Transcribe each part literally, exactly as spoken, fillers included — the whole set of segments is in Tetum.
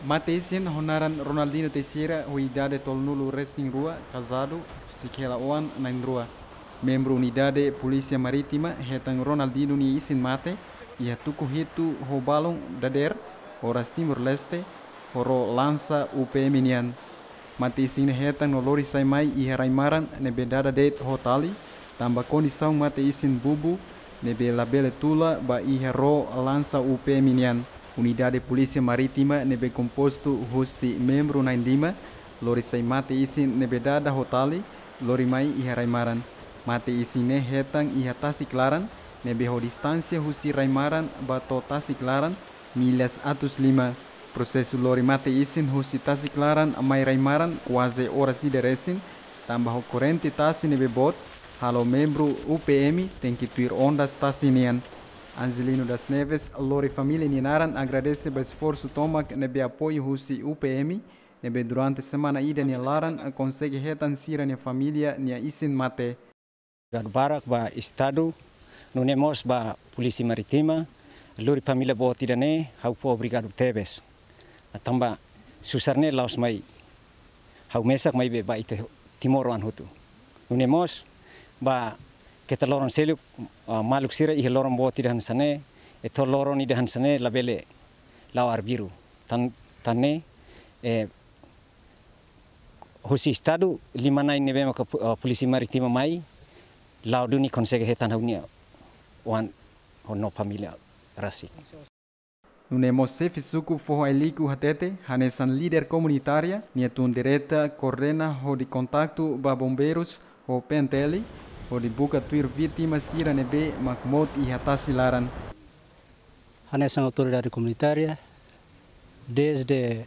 Mate-isin ho naran Ronaldino Teixeira, ho idade tolunulu resin rua, kazadu, husi hela oan na'in rua. Membru Unidade Polísia Marítima hetan Ronaldino nia isin mate iha tuku hitu ho balun dadeer, oras Timor-Leste, ho ró lansa U P M nian. Mate-isin ne'e hetan no lori sai mai iha rai-maran ne'ebé dada de'it ho tali, tanba kondisaun mate-isin bubu, ne'ebé labele tula ba iha ró lansa U P M nian. Unidade Polísia Marítima ne'ebé kompostu husi membru na'in lima, lori sai mate-isin ne'ebé dada ho tali, lori mai iha rai-maran. Mate-isin ne'e hetan iha tasi klaran, ne'ebé ho distánsia husi rai-maran ba to'o tasi klaran, millas atus lima. Prosesu lori mate-isin husi tasi klaran mai rai-maran kuaze oras ida resin, tanba ho korrente tasi ne'ebé boot, halo membru U P M tenke tuir ondas tasi nian. Angelino das Neves, lori família nia naran, agradese ba esforsu tomak ne'ebé apoiu husi U P M, ne'ebé durante semana ida nia laran konsege hetan sira-nia família nia isin mate. Obrigadu barak ba Estadu, nune'e mós ba Polísia Marítima, lori família boot ida-ne'e, ha'u fó obrigadu tebes. Tanba susar ne'e la'ós mai ha'u mesak, maibé ba ita timoroan hotu. Nune'e mós ba keta loron seluk, ah, maluk sira iha loron boot ida hanesan ne'e, entaun loron ida hanesan ne'e labele la'o arbiru. Tan, tan ne'e, eh, husi Estadu, lima na'in ne'ebé maka pu-, ah, Polísia Marítima mai, la'o duni konsege hetan ha'u-nia oan ho nia família rasik. Nune'e mós xefe suku Foho Ailliku hatete, hanesan líder komunitária, nia tun direta koordena hodi kontaktu ba bombeirus ho P N T L, hodi buka tuir vítima sira ne'ebé mak mout iha tasi laran. Hanesan autoridade komunitária, desde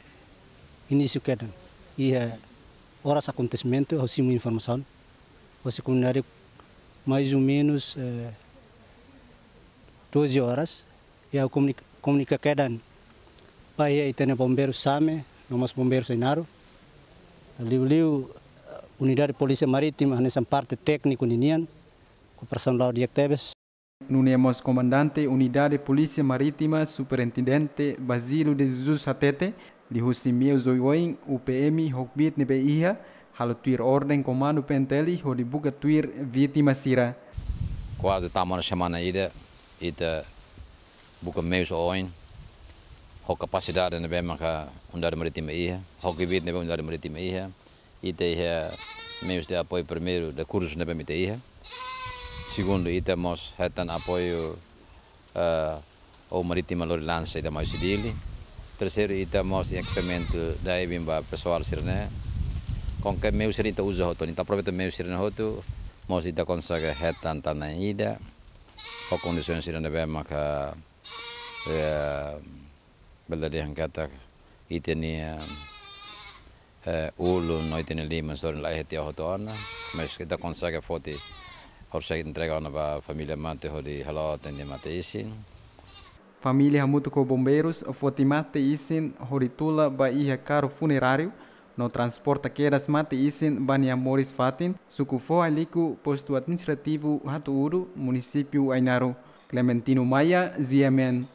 inísiu kedan, iha oras akontesimentu, ha'u simu informasaun, hosi komunidade mais ou menus, eh, doze horas, i ha'u komunik-, komunika kedan ba iha ita-nia bombeiru Same, no mós bombeiru Ainaro. Liuliu, eh, Unidade Polísia Marítima, hanesan parte tékniku ninian, kooperasaun la'o di'ak tebes. Nune'e mós Komandante Unidade Polísia Marítima, Superintendente Basílio de Jesus hatete, liuhusi meius oioin U P M ho kbiit ne'ebé iha, halo tuir orden Komandu P N T L hodi buka tuir vítima sira. Kuaze tama ona semana ida, ita buka meius oioin, ho kapasidade ne'ebé maka Unidade Marítima iha, ho kbiit ne'ebé Unidade Marítima iha, ita iha meius de apoiu, primeiru, de kursus ne'ebé ita iha. Segundu, ita mós hetan apoiu, eh, ou marítima lori lansa ida mai husi Dili. Terseiru, ita mós iha ekipamentu diving ba pesoál sira-ne'e. Kualkér meius sira ita uza hotu, ita aproveita meius sira-ne'e hotu, mós ita konsege hetan tan na'in ida, ho kondisaun sira ne'ebé maka, eh, bele dehan katak ita-nia, eh, ulun no ita-nia liman sorin la iha tiha hotu ona, mas ita konsege foti, hodi entrega ona ba família mate hodi halo atende mate-isin. Família hamutuk ho bombeirus foti mate-isin hodi tula ba iha karru funeráriu, no transporta kedas mate-isin ba nia moris fatin, suku Foho Ailliku, postu administrativu Hatu-Udu, munisípiu Ainaro. Clementino Maia, G M N.